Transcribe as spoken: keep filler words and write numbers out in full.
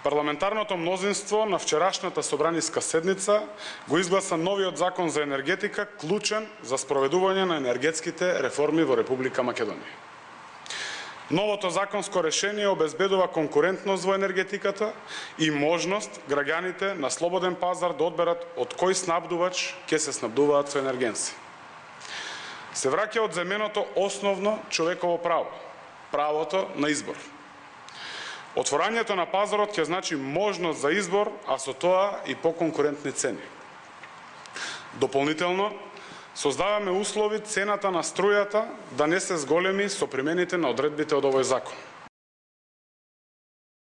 Парламентарното мнозинство на вчерашната собраниска седница го изгласа новиот закон за енергетика, клучен за спроведување на енергетските реформи во Република Македонија. Новото законско решение обезбедува конкурентност во енергетиката и можност граѓаните на слободен пазар да одберат од кој снабдувач ќе се снабдуваат со енергенци. Се враќа од земеното основно човеково право, правото на избор. Отворањето на пазарот ќе значи можност за избор, а со тоа и поконкурентни цени. Дополнително, создаваме услови цената на струјата да не се зголеми со примените на одредбите од овој закон.